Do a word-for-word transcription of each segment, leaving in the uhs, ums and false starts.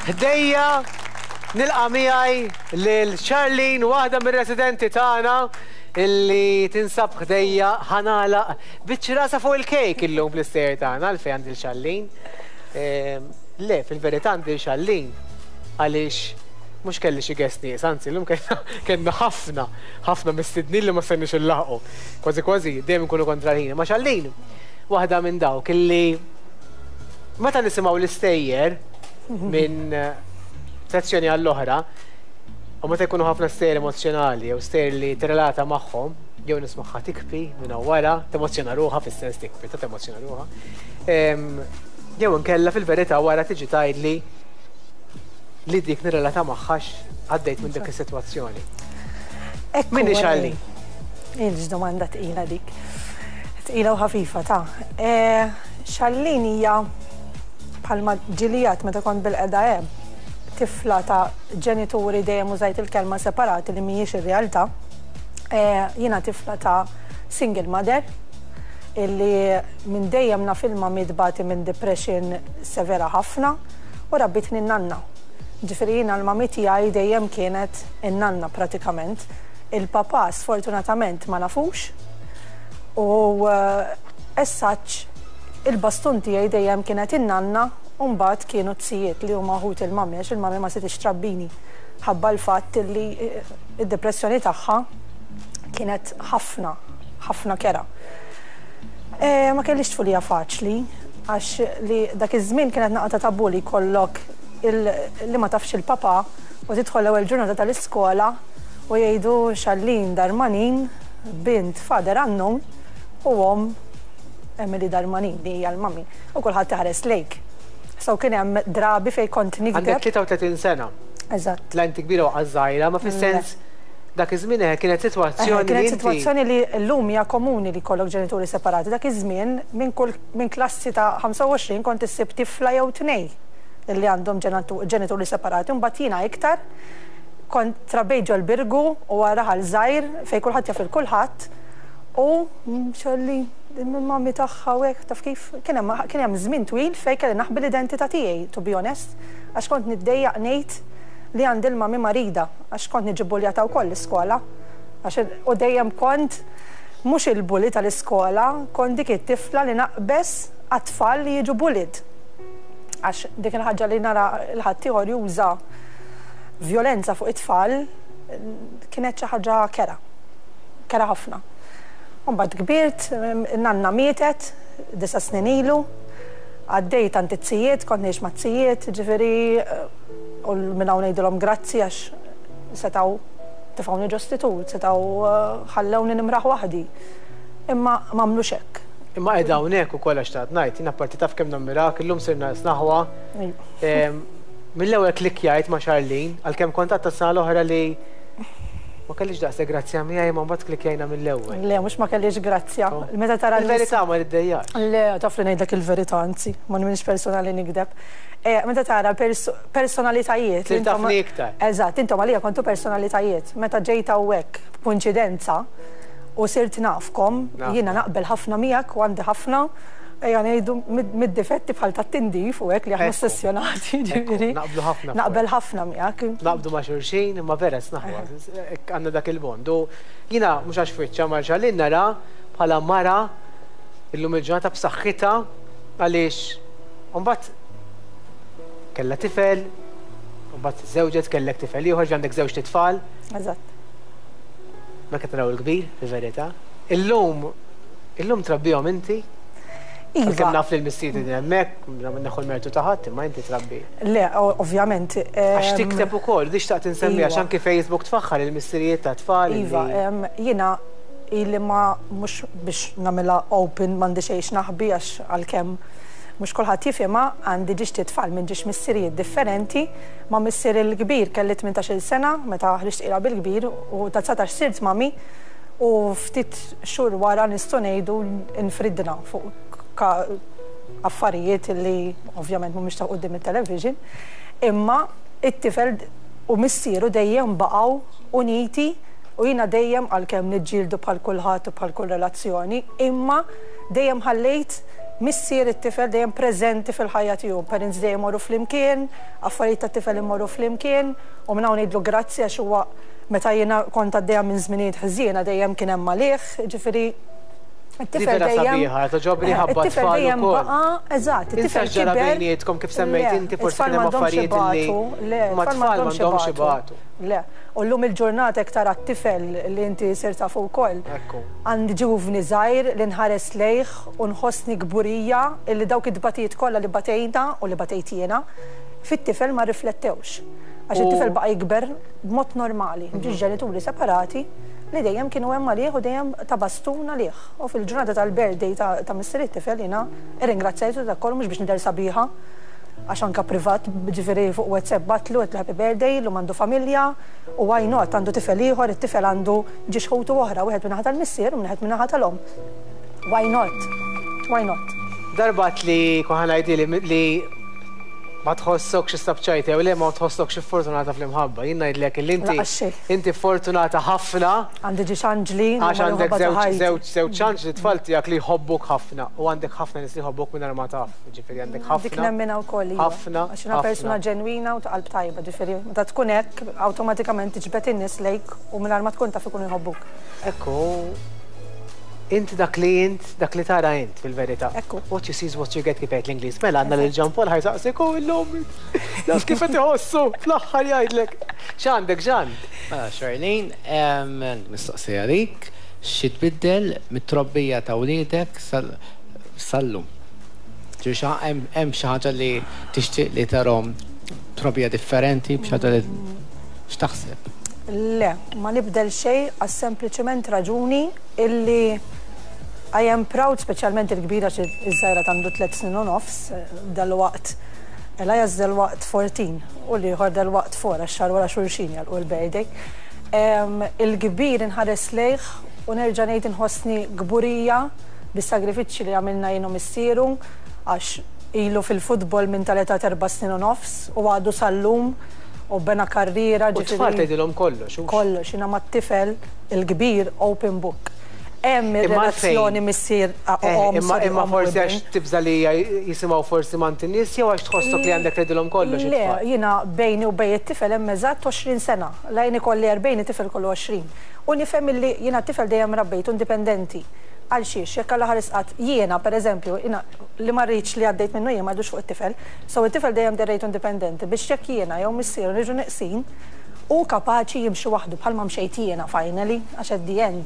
Ħdejja nilqa' miegħi lil Charlene, waħda mir-residenti tagħna illi tinsab ħdejja. Ħa nagħlaq biċ-ċirasa fuq il-kejk illum fl-istejjer tagħna. Għalfejn għandi Charlene? Ehm, le, fil-verità għandi Charlene għaliex mhux kelli xi guest nies, anzi llum kellna ħafna, ħafna mistednin li ma stajniex inlaħħqu. Kważi kważi dejjem nkunu kontra l-ħin. Ma Charlene, waħda minn dawk illi meta nisimgħu l-istejjer minn sezzjoni għall-oħra, u meta jkunu ħafna stejjer emozjonali jew stejjer li tirrelata magħhom, jew nismagħha tibki minn wara, temozzjona ruħha, fis-sens tibki, ta' temozzjona ruħha. Jew inkella fil-verità wara tiġi tgħidli li dik nirrelata magħha, għaddejt minn dik is-sitwazzjoni. Min hi Charlene? Il domanda tqila dik. Tqila u ħafifa ta'. Charlene hija, bħalma ġilijat meta kont bilqiegħda hemm, tifla ta' ġenituri, dejjem użajt il-kelma separati li mhijiex ir-realtà. Jiena tifla ta' single mother illi minn dejjem naf il-mami tbati minn depression severa ħafna u rabbitni n-nanna. Ġifieri jiena l-mami tiegħi dejjem kienet in-nanna pratikament. Il-papa sfortunatament ma nafux u essaċ il-bastun tiegħi dejjem kienet in-nanna u mbagħad kienu t-zijiet li huma ħut il-mami, għax il-mami ma setgħetx trabbini ħabba l-fatt li id-depressjoni tagħha kienet ħafna, ħafna kerha. Ma kellix tfulija faċli, għax li dak iż-żmien kienet naqra tabu li kollok li ma tafx il-papa u tidħol l-ewwel ġurnata tal-iskola u jgħidu Charlene Darmanin, bint father unknown u omm Emily Darmanin, li hija l-mami, u kulħadd iħares lejk. So kien hemm drabi fejn kont nikdeb. Għandek tlieta u tletin sena. Eżatt. La inti kbira u żgħira, ma fis-sens dak iż-żmien kienet sitwazzjoni. Kienet sitwazzjoni li llum hija komuni li jkollok ġenituri separati. Dak iż-żmien minn kull minn klassi ta' ħamsa u għoxrin kont issib tifla jew tnej li għandhom ġenituri separati. Mbagħad jiena iktar kont trabbejt ġol-Birgu u raħal żgħir fejn kulħadd jaf il kulħadd u xolli mami tagħha u hekk, taf kif, kien hemm żmien twil fejn kelli naħbi l-identità tiegħi, to be honest, għax kont niddejjaq ngħid li għandi l-mami marida, għax kont niġi buljata wkoll l-iskola. U dejjem kont mhux il-bully tal-iskola, kont dik it-tifla li naqbeż għat-tfal li jiġu bullied. Għax dik il-ħaġa li nara l-ħaddieħor juża violenza fuq it-tfal kienet xi ħaġa kerha. Kerha ħafna. Mbagħad kbirt, nanna mietet disa' snin ilu, għaddejt għand it-zijiet, kont ngħix mat-zijiet, ġifieri u minn hawn ngħidilhom grazzi għax setgħu tefgħuni ġo istitut, setgħu ħallewni nimraħ waħdi. Imma m'għamlux hekk. Imma qiegħda hawnhekk ukoll għax tgħid ngħid, jien apparti taf kemm nammirak, illum sirna snaħwa. Mill-ewwel klikkjajt ma' Charlene, għalkemm kont tas-sena l-oħra li ma kellix daqshekk grazzja miegħi, ma mbagħad klikkjajna mill-ewwel. Le, mhux ma kellix grazzja. Oh. Meta tara Il-verità ma niddejjax. Le, taf li ngħidlek il-verità, anzi, ma minix persona li nikdeb. Meta tara personalitajiet. Sir tafni iktar. Eżatt, intom għalija kontu personalitajiet. Meta ġejt hawnhekk b'kunċidenza u sirt nafkom, jiena naqbel ħafna miegħek u għandi ħafna, ejja ngħidu, mid-difetti bħal tat-tindif u hekk li aħna ossessjonati, ġifieri. Naqblu ħafna. Naqbel ħafna miegħek. Naqbdu ma' xulxin, imma vera snaħwa, għandna dak il-bond. U jiena mhux għax fwiċċa ma' Charlene nara bħala mara illum il-ġurnata b'saħħitha, għaliex mbagħad kellha tifel, mbagħad żewġet, kellek tifel ieħor, għandek żewġ tfal. Eżatt. Ma qed naraw il-kbir, fil-verità. Illum, illum trabbihom inti? Iva. Kemm naf li l-missieri din hemmhekk, neħu l-mertu ta' ħadd, imma inti trabbi. Le, ovvjament. Għax tikteb ukoll, di xtaqt insemmi, għax Iva. anki Facebook tfaħħar il-missirijiet ta' tfal. Iva, jiena ili ma mhux biex nagħmilha open, m'għandi xejn naħbi, għax għalkemm mhux kulħadd jifhimha, għandi ġiex tfal minn ġiex missirijiet differenti. Ma' missier il-kbir kelli tmintax-il sena meta ħriġt tqila bil-kbir u ta' dsatax sirt mami u ftit xhur wara nistgħu ngħidu nfridna fuq affarijiet li ovvjament mhumiex ta' quddiem it-television, imma it-tifel u missieru dejjem baqgħu uniti u jiena dejjem, għalkemm niġġieldu bħal kulħadd u bħal kull relazzjoni, imma Dejjem ħallejt missier it-tifel dejjem preżenti fil-ħajja tiegħu, parents dejjem morru flimkien, affarijiet tat-tifel imorru flimkien, u minn hawn ngħidlu grazzi għax huwa meta jiena kont għaddejja minn żminijiet ħżiena dejjem kien hemm għalih, ġifieri it-tifel dejjem sabiħa, toġobni ħabba it-tifel tfal dejjem ukoll. baqa', eżatt, it-tifel Insa ġara kiber. bejnietkom kif semmejt Le, inti forsi it-tfal kien hemm m'għandhomx affarijiet li ibatu, le, ma it-tfal tfal m'għandhomx m'għandhomx ibatu. ibatu. Le, u llum il-ġurnata iktar għat-tifel li inti sirt tafu wkoll. Ekku. Għandi ġuvni żgħir li nħares lejh u nħossni kburija illi dawk id-dbatijiet kollha li batejna u li batejt jiena fit-tifel ma riflettewx. Għax U- it-tifel baqa' jikber b'mod normali, ġiġ ġenituri separati li dejjem kienu hemm għalih u dejjem ta' bastun għalih. U fil-ġurnata tal-birthday ta', ta' missier it-tifel jiena irringrazzjajtu dak kollu mhux biex nidher sabiħa, għax anka privat, ġifieri fuq WhatsApp bgħattlu għedtlu happy birthday, llum għandu familja, u why not, għandu tifel ieħor, it-tifel għandu żewġ ħutu oħra, wieħed min-naħa tal-missier u wieħed min-naħa tal-omm. Why not? Why not? Darbat li kuħan li li ma tħossokx istabċajti jew le ma tħossokx fortunata fl-imħabba. Jien ngħidlek li inti Lanqas xejn. inti fortunata ħafna Għandi żewġ anġli, għax għandek żewġ żewġ żewġ anġli tfal tiegħek li jħobbuk ħafna u għandek ħafna nies li jħobbuk mingħajr ma taf. Ġifieri għandek Dik ħafna. nemmina wkoll iva. Ħafna, Għax jiena persuna ħafna. ġenwina u ta' qalb tajba, ġifieri meta tkun hekk awtomatikament tiġbed in-nies lejk u mingħajr ma tkun taf ikunu jħobbuk. Ekku, inti dak li int, dak li tara int fil-verità. Ekku. What you see is what you get kif jgħid l-Ingliż. Mela għandna lil Jean Paul ħa jsaqsik u illum. Naf kif qed iħossu fl-aħħar jgħidlek. X'għandek Jean? Mela, Charlene, em, mistoqsija għalik, xi tbiddel mit-trobbija ta' wliedek sal- sal-lum? Ġifieri xi ħa- hemm hemm xi ħaġa li tixtieq li tarahom trobbija differenti, b'xi ħaġa li x'taħseb? Le, ma nibdel xejn għas sempliċement raġuni illi I am proud, speċjalment il-kbira xi iż-żgħira għandu tliet snin u nofs, eh, dal-waqt. Elias dal-waqt erbatax u l-ieħor dal-waqt erbgħa, għax xahar wara xulxin jagħlqu l-birthday. Em, Il-kbir inħares lejh u nerġa' ngħid inħossni kburija bis-sagrifiċċji li għamilna jien u missieru għax ilu fil-futbol minn tal-età erba' snin u nofs u għadu sal-lum u bena karriera. U tfal ġifieri- tgħidilhom kollox. hux? Kollox, jiena mat-tifel il-kbir open book. Hemm Imma ir-relazzjoni għalfejn? missier Eh, omm, Imma sorry, imma omm u forsi ibn. għax tibża li jisimgħu forsi mant in-nies jew għax tħossok li għandek tgħidilhom kollox Le, it-tfal. jiena bejni u bejn it-tifel hemm eżatt għoxrin sena. La jien ikolli erbgħin, it-tifel kollu għoxrin. U nifhem illi jiena t-tifel dejjem rabbejtu indipendenti. Għal xiex, jekk Alla ħares qatt jiena pereżempju, jiena li ma rridx li għaddejt minnu jien ma rridux fuq it-tifel, so it-tifel dejjem derrejtu indipendenti biex jekk jiena jew missieru niġu neqsin u kapaċi jimxi waħdu bħalma mxejt jiena finally, għax at the end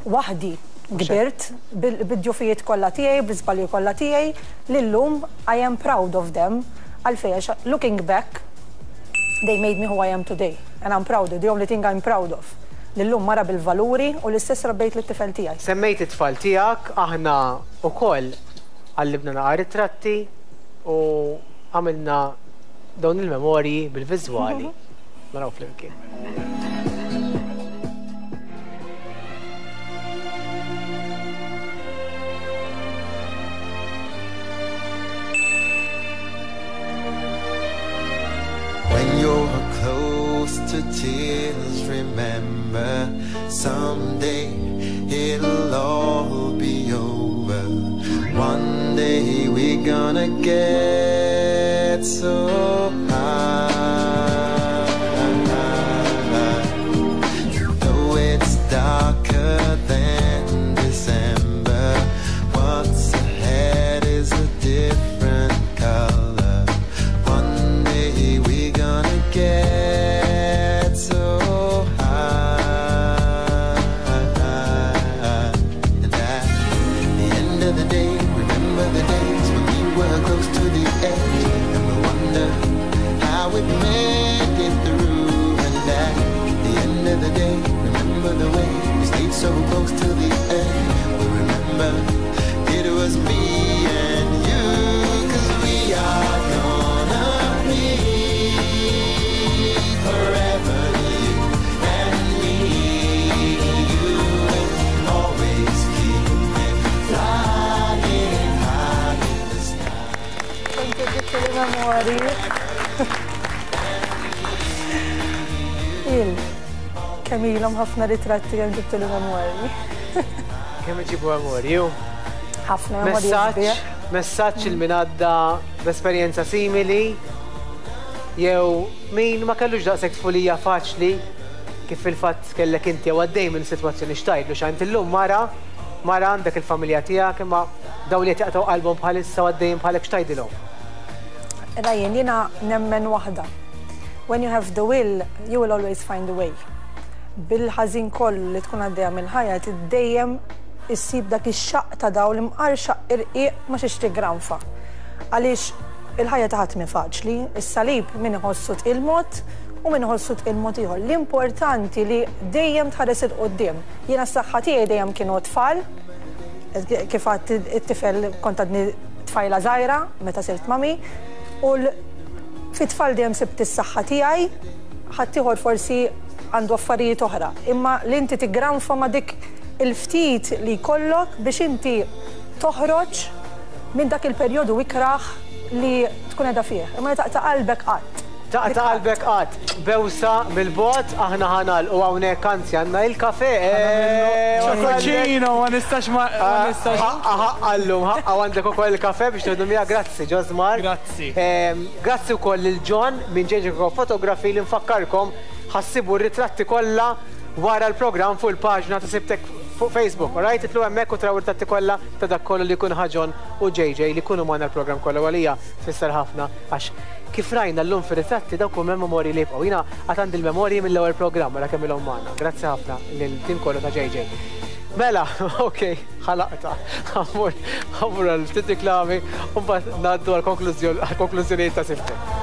waħdi kbirt bil-djufijiet kollha tiegħi, bl-iżbalji kollha tiegħi, li llum I am proud of them. Għalfejn, għax looking back, they made me who I am today. And I'm proud, the only thing I'm proud of. Li llum mara bil-valuri u l-istess rabbejt lit-tifel tiegħi. Semmejt it-tfal tiegħek, aħna wkoll għallibna naqra ritratti u għamilna dawn il-memorji bil-viżwali. Naraw flimkien. When you're close to tears, remember someday it'll all be over. One day we're gonna get so high. Though it's darker than December, what's ahead is a different color. One day we're gonna get so high. And at the end of the day, remember the days when we were close to the edge, and we wonder how we made it through. And at the end of the day, remember the way we stayed so close to the end. We remember it was me and you, 'cause we are gonna be forever, you and me. You will always keep it flying high in the sky. Kont ġibtu li memorji. Il, kemm ilhom ħafna ritratti kemm ġibtu li memorji. Kemm iġibu memorji? Ħafna memorji Messaġġ, sbieħ. Messaġġ lil min għadda b'esperjenza simili jew min ma kellux daqshekk tfulija faċli kif fil-fatt kellek inti jew għaddej minn sitwazzjoni, x'tgħidlu? X'għand illum mara, mara għandek il-familja tiegħek, imma dawn li qed jaqtgħu qalbhom bħalissa u għaddejjin bħalek, x'tgħidilhom? Ryan, jiena nemmen waħda. When you have the will, you will always find a way. Bil-ħażin kollu li tkun għaddejja mill-ħajja, dejjem issib dak ix-xaqq ta' dawl, imqar xaqq irqiq ma xiex tigranfa. Għaliex il-ħajja ta' ħadd mhi faċli, is-salib min iħossu tqil mod u min iħossu tqil mod ieħor. L-importanti li dejjem tħares 'il quddiem. Jiena s-saħħa tiegħi dejjem kienu tfal, kif għad it-tifel kont għadni tfajla żgħira meta sirt mami, u l- fit-tfal dejjem sibt is-saħħa tiegħi, ħaddieħor forsi għandu affarijiet oħra. Imma li inti tigranfa ma' dik il-ftit li jkollok biex inti toħroġ minn dak il-perjodu ikraħ li tkun qiegħda fih. Imma li taqta' qalbek qatt. Taqta' qalbek qatt. Bewsa mill-bogħod, aħna ħa nagħlqu hawnhekk, anzi għandna il-kafe. Ċokoċino, ma nistax ma ma nistax. Ħaqqa, ħaqqa llum, ħaqqa għandek ukoll il-kafe biex tieħdu miegħek. Grazzi, Josmar. Grazzi. Ehm, Grazzi wkoll lil John minn J J Photography li nfakkarkom ħa ssibu r-ritratti kollha wara l-programm fuq il-paġna ta' Sibtek fuq Facebook. Alright, itilgħu hemmhekk u taraw ir-ritratti kollha ta' dak kollu li jkun ħa John u J J li jkunu magħna l-programm kollu. Għalija tfisser ħafna għax kif rajna llum fir-ritratti dawk huma memorji li jibqgħu. Jiena għad għandi l-memorji mill-ewwel programm wara kemm ilhom magħna. Grazzi ħafna lil-tim kollu ta' J J. Mela, ok, ħalaqta. Ħa mmur, ħa mmur għal ftit reklami u mbagħad ngħaddu għal-konklużjonijiet ta' Sibtek.